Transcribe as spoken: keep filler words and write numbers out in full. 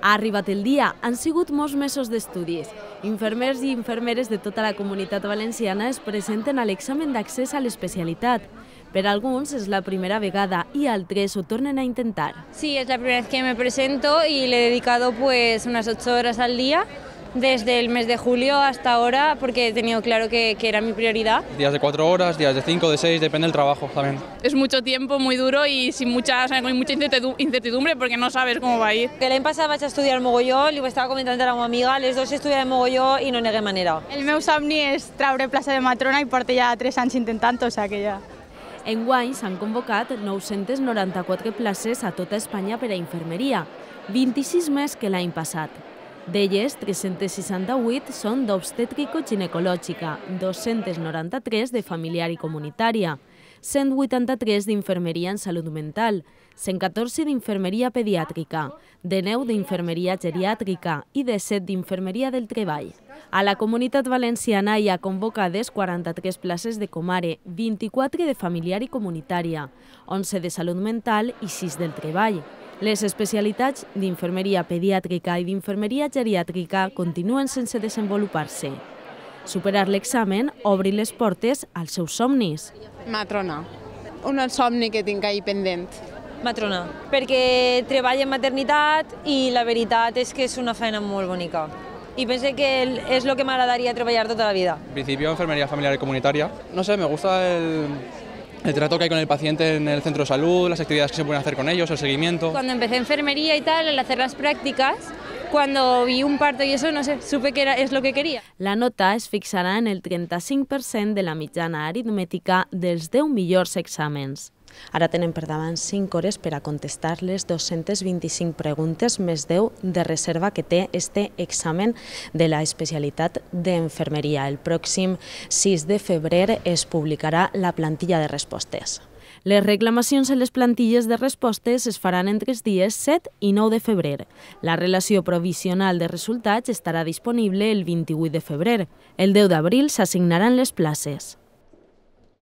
Ha arribat el dia, han sigut molts mesos d'estudis. Infermers i infermeres de tota la comunitat valenciana es presenten a l'examen d'accés a l'especialitat. Per a alguns és la primera vegada i altres ho tornen a intentar. Sí, es la primera vez que me presento y le he dedicado pues unas ocho horas al día desde el mes de julio hasta ahora porque he tenido claro que, que era mi prioridad. Días de cuatro horas, días de cinco, de seis, depende del trabajo también. Es mucho tiempo, muy duro y sin mucha, o sea, con mucha incertidumbre porque no sabes cómo va a ir. Que l'any passat vaig estudiar mogolló, li ho estava comentant a la meva amiga, les dues estudiàvem mogolló i no negué manera. El meu somni és treure plaça de matrona i porto ja tres anys intentant-ho, o sigui que ja... Enguany s'han convocat nou-centes noranta-quatre places a tota Espanya per a infermeria, vint-i-sis més que l'any passat. D'elles, tres-centes seixanta-vuit són d'obstètrico-ginecològica, dos-centes noranta-tres de familiar i comunitària, cent vuitanta-tres d'infermeria en salut mental, cent catorze d'infermeria pediàtrica, dinou d'infermeria geriàtrica i disset d'infermeria del treball. A la comunitat valenciana hi ha convocades quaranta-tres places de comare, vint-i-quatre de familiar i comunitària, onze de salut mental i sis del treball. Les especialitats d'infermeria pediàtrica i d'infermeria geriàtrica continuen sense desenvolupar-se. Superar l'examen obre les portes als seus somnis. Matrona, un somni que tinc ahí pendent. Matrona, perquè treballo en maternitat i la veritat és que és una feina molt bonica. Y pensé que es lo que me agradaría trabajar toda la vida. En principio, enfermería familiar y comunitaria. No sé, me gusta el, el trato que hay con el paciente en el centro de salud, las actividades que se pueden hacer con ellos, el seguimiento. Cuando empecé enfermería y tal, al hacer las prácticas, cuando vi un parto y eso, no sé, supe que era, es lo que quería. La nota es fixarà en el trenta-cinc per cent de la mitjana aritmètica dels deu millors exàmens. Ara tenen per davant cinc hores per a contestar les dos-centes vint-i-cinc preguntes més deu de reserva que té este examen de la especialitat d'enfermeria. El pròxim sis de febrer es publicarà la plantilla de respostes. Les reclamacions en les plantilles de respostes es faran entre els dies set i nou de febrer. La relació provisional de resultats estarà disponible el vint-i-vuit de febrer. El deu d'abril s'assignaran les places.